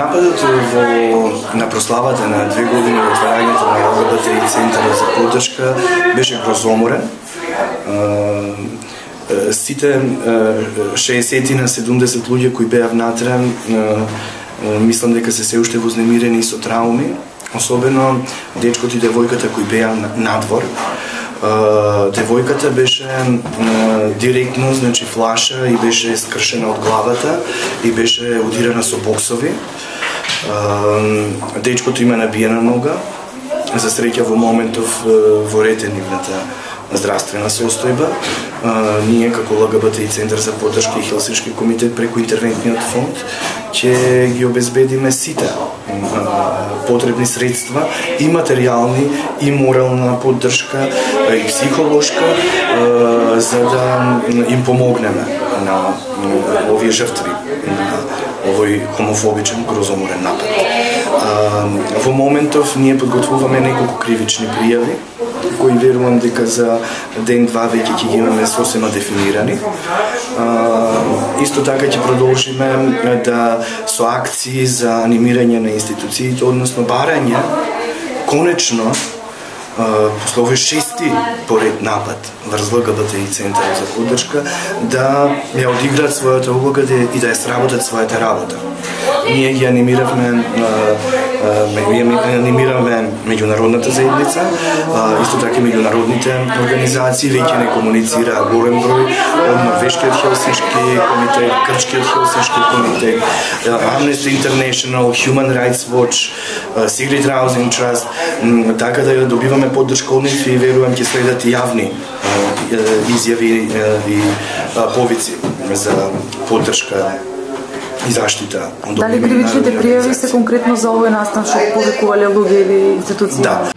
Нападот на прославата на 2 години од отварањето на ЛГБТ центарот за поддршка беше грозоморен. Сите 60 на 70 луѓе кои беа внатре, мислам дека се уште вознемирени со трауми, особено дечкото и девојката кои беа надвор. Девојката беше директно, значи флаша и беше скршена од главата и беше удирана со боксови. Дечкото има набиена нога. За среќа во моментов во ред е нивната здравствена состојба. Ние како ЛГБТ центар за поддршка и Хелсиншки комитет преку интервентниот фонд ќе ги обезбедиме сите потребни средства и материјални и морална поддршка и психолошка за да им помогнеме на овие жртви на овој хомофобичен грозоморен напад. Во моментов ние подготвуваме неколку кривични пријави кои верувам дека за ден-два веќе ќе ги имаме сосема дефинирани. Исто така ќе продолжиме да со акции за анимирање на институциите, односно барање конечно после овој 6-ти поред напад врз ЛГБТ центарот за поддршка да ја одиграат својата улога и да ја сработат својата работа. Ние ги анимиравме меѓународната заедница, исто така меѓународните организации веќе не комуницира голем број од Норвешкиот Хелсиншки комитет, Грчкиот Хелсиншки комитет, Amnesty International, Human Rights Watch, Sigrid Housing Trust, така да добиваме поддршка од нив и верувам ќе следат јавни изјави и повици за поддршка и заштита. Дали кривичните пријави се конкретно за овој настан што повикувале луѓе или институции? Да.